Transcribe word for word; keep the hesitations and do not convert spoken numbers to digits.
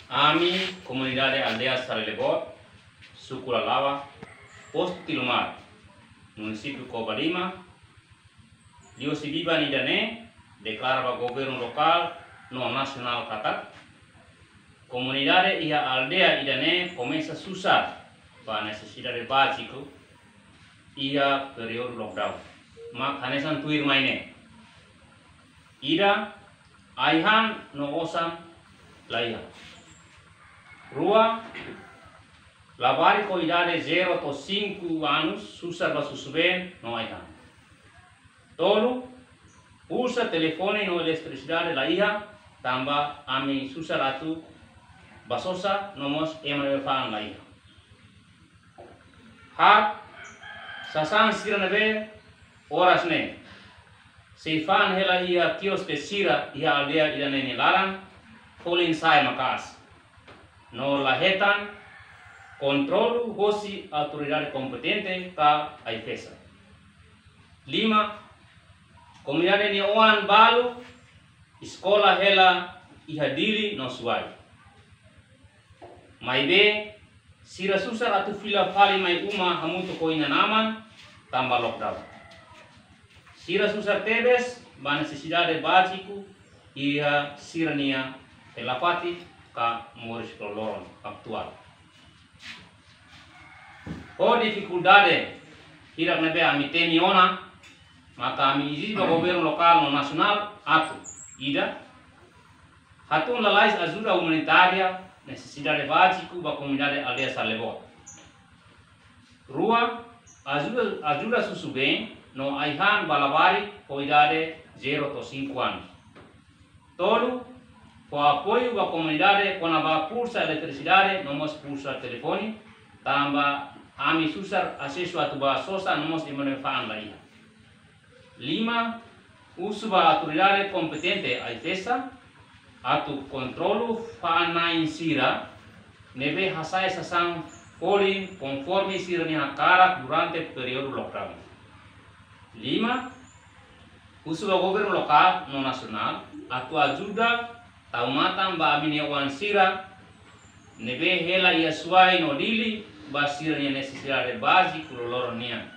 Ami, komunidade aldeia Sarelebot, suku Lalawa, postu Tilomar, munisípiu Covalima, liuhusi ida-ne'e, deklara ba governu lokál no nasionál katak komunidade iha aldeia ida-ne'e komesa susar ba nesesidade báziku iha períodu lockdown. Mak hanesan tuirmai ne'e. Ida, ai-han no osan la iha. Rua, labarik ho idade zero to'o cinco anos susar ba susubeen no ai-han. Tolu, pulsa telefone no eletrisidade la iha, tanba ami susar atu bá sosa no mós ema ne'ebé fa'an la iha. Haat, sasán sira ne'ebé oras ne'e sei fa'an hela iha kioske sira iha aldeia ida-ne'e nia laran, folin sa'e maka'as no la hetan kontrolu hosi autoridade kompetente ka AIFAESA. Lima, komunidade nia oan balu eskola hela iha Dili no Suai. Maibé, sira susar atu fila fali mai uma hamutuk ho inan-aman tanba lockdown. Sira susar tebes ba nesesidade báziku iha sira-nia hela fatin ka moris loroloron atuál. Ho difikuldade hirak ne'ebé ami temi ona, maka ami ezije ba governu lokál no nasionál atu, ida, hatún lalais ajuda umanitária nesesidade báziku ba komunidade aldeia Sarelebot. Rua, ajuda, ajuda susubeen no ai-han ba labarik ho idade zero to'o cinco anos. Tolu, fó apoiu ba komunidade kona-ba pulsa eletrisidade no mós pulsa telefone, tanba ami susar asesu atu bá sosa no mós ema ne'ebé fa'an la iha. Lima, husu ba autoridade kompetente AIFAESA atu kontrolu fa'an-na'in sira ne'ebé hasa'e sasán folin konforme sira-nia hakarak durante períodu lockdown. Lima, husu ba governu lokál no nasionál atu ajuda tau matan ba ami-nia oan sira ne'ebé hela iha Suai no Dili ba sira-nia nesesidade báziku loroloron nian.